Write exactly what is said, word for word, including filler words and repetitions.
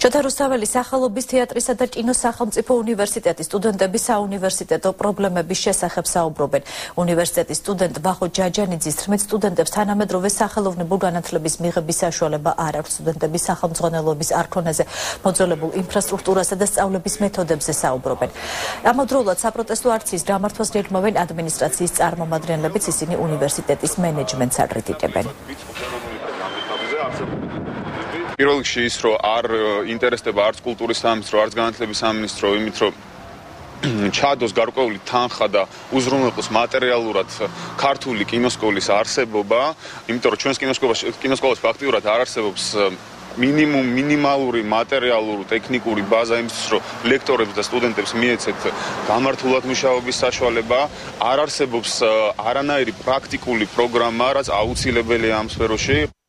შოთა რუსთაველის სახელობის თეატრისა და კინოს სახელმწიფო უნივერსიტეტის სტუდენტები საუნივერსიტეტო პრობლემების შესახებ საუბრობენ. უნივერსიტეტის სტუდენტ ვახო ჯაჯანიძის თქმით, სტუდენტებს თანამედროვე სახელოვნებო განათლების მიღების საშუალება არ აქვს. სტუდენტები სახელმძღვანელოების არქონეზე, მოძველებულ ინფრასტრუქტურასა და სწავლების მეთოდებზე საუბრობენ. ამავდროულად საპროტესტო აქციის გამართვას გეგმავენ ადმინისტრაციის წარმომადგენლებიც, ისინი უნივერსიტეტის მენეჯმენტს აკრიტიკებენ. პირველ რიგში ის, რომ არ ინტერესდება არც კულტურის სამინისტრო, არც განათლების სამინისტრო, იმით, რომ ჩადოს გარკვეული თანხა და უზრუნველყოს მატერიალურად ქართული კინოსკოლის არსებობა, იმიტომ რომ ჩვენს კინოსკოლაში ფაქტიურად არ არსებობს მინიმუმ მინიმალური მატერიალური ტექნიკური ბაზა იმისთვის, რომ ლექტორებს და სტუდენტებს მიეცეთ გამართულად მუშაობის საშუალება, არ არსებობს არანაირი პრაქტიკული პროგრამა, რაც აუცილებელია ამ სფეროში.